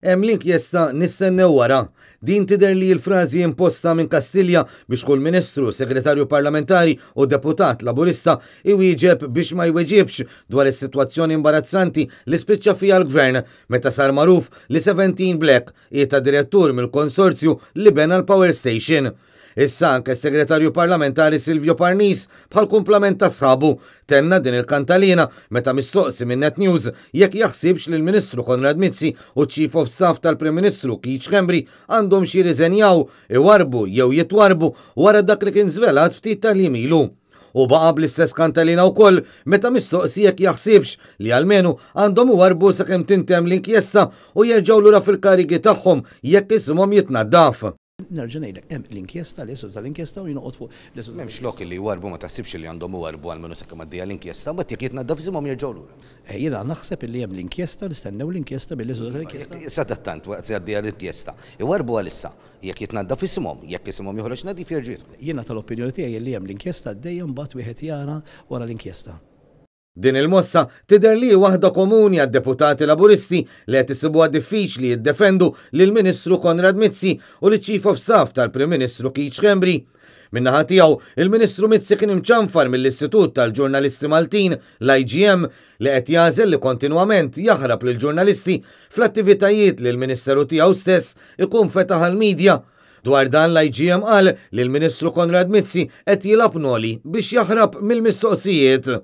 Hemm l-inkjesta nistennew wara. Din tidher li l-frażi imposta minn Kastilja biex kull ministru, segretarju parlamentari u deputat Laburista iwieġeb biex ma jweġibx dwar is-sitwazzjoni imbarazzanti li spiċċa fiha l-Gvern meta sar magħruf li 17 Black hi ta' direttur mill-konsorzju li bena l-power station. Issa anke s-Segretarju Parlamentari Silvio Parnis, bħal kumplament ta' sħabu, tenna din il-kantalina meta mistoqsi minn Net News jekk jaħsibx li l-Ministru Konrad Mizzi u ċ-Chief of Staff tal-Prim Ministru Keith Schembri għandhomx jirriżenjaw, iwarrbu jew jitwarrbu wara dak li kien żvelat ftit tal-jiem ilu. U baqa' bl-istess kantalina wkoll meta mistoqsi jekk jaħsibx li almenu għandhom iwarrbu sakemm tintemm l-inkjesta u jerġgħu lura fil-karigi tagħhom jekk isimhom jitnaddaf. Nerġa' ngħidlek, hemm l-inkjesta, l-eżitu tal-inkjesta u jien noqgħod fuq l-eżitu. M'hemmx lok li jwarrbu, ma taħsibx li għandhom iwarrbu almenu sakemm għaddejja l-inkjesta, mbagħad jekk jitnaddaf isimhom jerġgħu lura. Jiena naħseb illi hemm l-inkjesta, nistennew l-inkjesta bil-eżitu tal-inkjesta. Sadattant, waqt li għaddejja l-inkjesta, iwarrbu għalissa. Jekk jitnaddaf isimhom, jekk isimhom joħroġ nadif jerġgħu jidħlu. Jiena tal-opinjoni tiegħi illi hemm l-inkjesta għaddejja mbagħad wieħed jara wara l-inkjesta. Din il-mossa tidher li hi waħda komuni għad-deputati Laburisti li qed isibuha diffiċli jiddefendu lill-Ministru Konrad Mizzi u liċ-Chief of Staff tal-Prim Ministru Keith Schembri. Min-naħa tiegħu, il-Ministru Mizzi kien imċanfar mill-Istitut tal-Ġurnalisti Maltin, l-IGM, li qed jagħżel li kontinwament jaħrab lill-ġurnalisti fl-attivitajiet li l-Ministeru tiegħu stess ikun fetaħ għall-media. Dwar dan l-IGM qal li l-Ministru Konrad Mizzi qed jilgħab noli biex jaħrab mill-mistoqsijiet.